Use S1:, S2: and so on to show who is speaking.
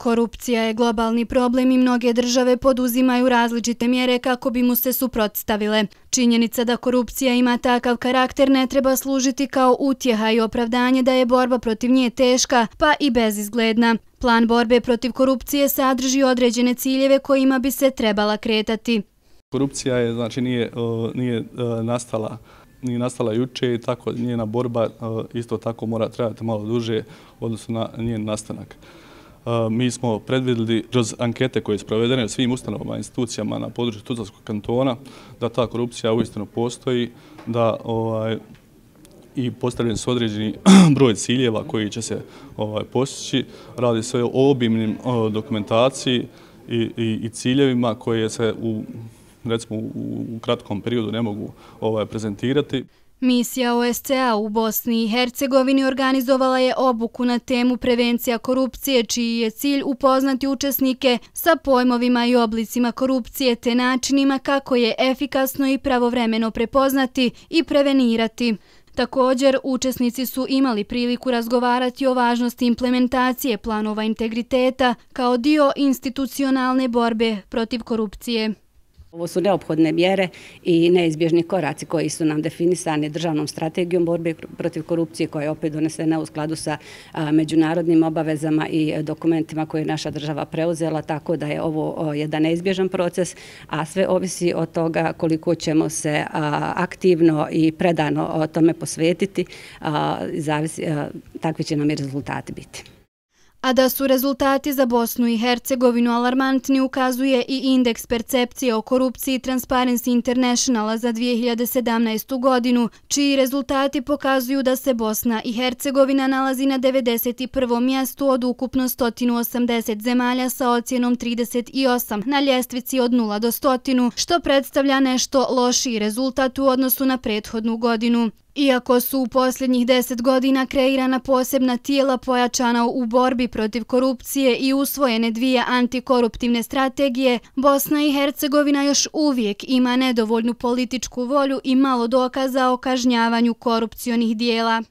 S1: Korupcija je globalni problem i mnoge države poduzimaju različite mjere kako bi mu se suprotstavile. Činjenica da korupcija ima takav karakter ne treba služiti kao utjeha i opravdanje da je borba protiv nje teška, pa i bezizgledna. Plan borbe protiv korupcije sadrži određene ciljeve kojima bi se trebala kretati.
S2: Korupcija je, znači, nije nastala juče i tako njena borba isto tako mora trajati malo duže odnosno na njen nastanak. Mi smo predvidjeli kroz ankete koje su provedene u svim ustanovama i institucijama na području Tuzlanskog kantona da ta korupcija uistinu postoji, da i postavljen su određeni broj ciljeva koji će se postići. Radi se o obimnim dokumentaciji i ciljevima koje se recimo u kratkom periodu ne mogu prezentirati.
S1: Misija OSCE u Bosni i Hercegovini organizovala je obuku na temu prevencija korupcije, čiji je cilj upoznati učesnike sa pojmovima i oblicima korupcije te načinima kako je efikasno i pravovremeno prepoznati i prevenirati. Također, učesnici su imali priliku razgovarati o važnosti implementacije planova integriteta kao dio institucionalne borbe protiv korupcije.
S3: Ovo su neophodne mjere i neizbježni koraci koji su nam definisani državnom strategijom borbe protiv korupcije koja je opet donesena u skladu sa međunarodnim obavezama i dokumentima koje je naša država preuzela, tako da je ovo jedan neizbježan proces, a sve ovisi od toga koliko ćemo se aktivno i predano tome posvetiti, takvi će nam i rezultati biti.
S1: A da su rezultati za Bosnu i Hercegovinu alarmantni ukazuje i indeks percepcije o korupciji Transparency Internationala za 2017. godinu, čiji rezultati pokazuju da se Bosna i Hercegovina nalazi na 91. mjestu od ukupno 180 zemalja sa ocjenom 38 na ljestvici od 0 do 100, što predstavlja nešto lošiji rezultat u odnosu na prethodnu godinu. Iako su u posljednjih 10 godina kreirana posebna tijela pojačana u borbi protiv korupcije i usvojene 2 antikoruptivne strategije, Bosna i Hercegovina još uvijek ima nedovoljnu političku volju i malo dokaza o kažnjavanju korupcionih dijela.